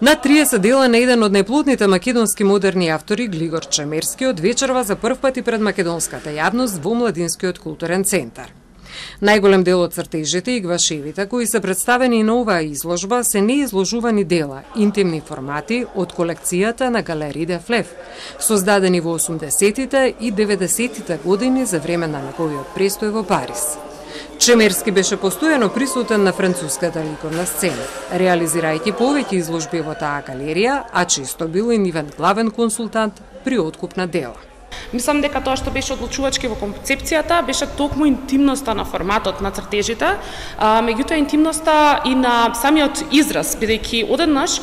На 30 дела на еден од најплодните македонски модерни автори, Глигор Чемерски, од вечерва за прв пат и пред македонската јавност во Младинскиот културен центар. Најголем дел од цртежите и гвашевите кои се представени на оваа изложба се неизложувани дела, интимни формати од колекцијата на Галерија де Флев, создадени во 80-тите и 90-тите години за време на неговиот престој во Париз. Чемерски беше постојано присутен на француската ликовна сцена, реализирајќи повеќе изложби во таа галерија, а често бил и нивен главен консултант при откуп на дела. Мислам дека тоа што беше одлучувачки во концепцијата беше токму интимноста на форматот на цртежите, меѓутоа интимноста и на самиот израз, бидејќи одеднаш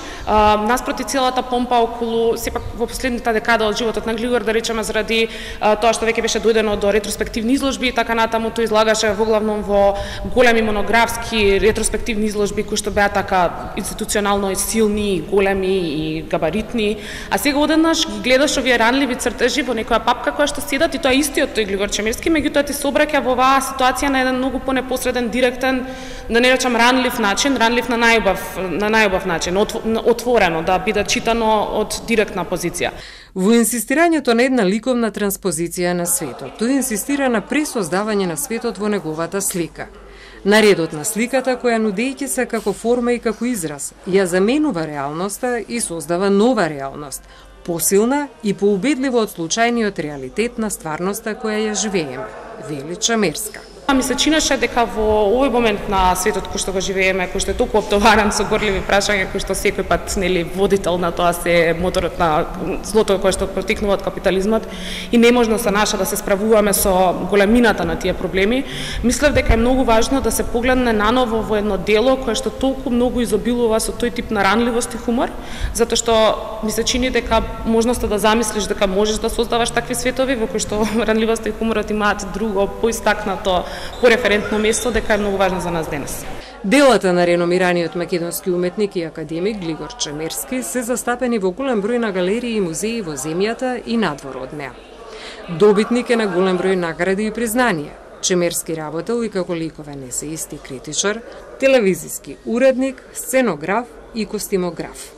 наспроти целата помпа околу сепак во последната декада од животот на Глигор, да речеме заради тоа што веќе беше дојдено до ретроспективни изложби и така натаму, тој излагаше воглавном во големи монографски ретроспективни изложби кои што беа така институционално и силни, големи и габаритни, а сега одеднаш ги гледаш овие ранливи цртежи во некоја папка која што седат и тоа истиот тој Глигор Чемерски, меѓутоа ти се обраќа во оваа ситуација на еден многу понепосреден, директен, да не речам ранлив начин, ранлив на најубав начин, отворено, да биде читано од директна позиција. Во инсистирањето на една ликовна транспозиција на светот, тој инсистира на пресоздавање на светот во неговата слика. Наредот на сликата која нудејќи се како форма и како израз, ја заменува реалноста и создава нова реалност, посилна и поубедливо од случајниот реалитет на стварноста која ја живееме, вели Чемерска. Ми се чинеше дека во овој момент на светот кој што го живееме, кој што е толку оптоваран со горливи прашања, кој што секој пат нели водител на тоа се моторот на злото кој што протикнува од капитализмот и неможно се наша да се справуваме со големината на тие проблеми, мислев дека е многу важно да се погледне наново во едно дело кое што толку многу изобилува со тој тип на ранливост и хумор, затоа што ми се чини дека можноста да замислиш дека можеш да создаваш такви светови во кои што ранливоста и хуморот имаат друго поистакнато пореферентно место, дека е многу важно за нас денес. Делата на реномираниот македонски уметник и академик Глигор Чемерски се застапени во голем број на галерии и музеи во земјата и надвор од неа. Добитник е на голем број награди и признанија. Чемерски работел и како ликовен есеист и критичар, телевизиски уредник, сценограф и костимограф.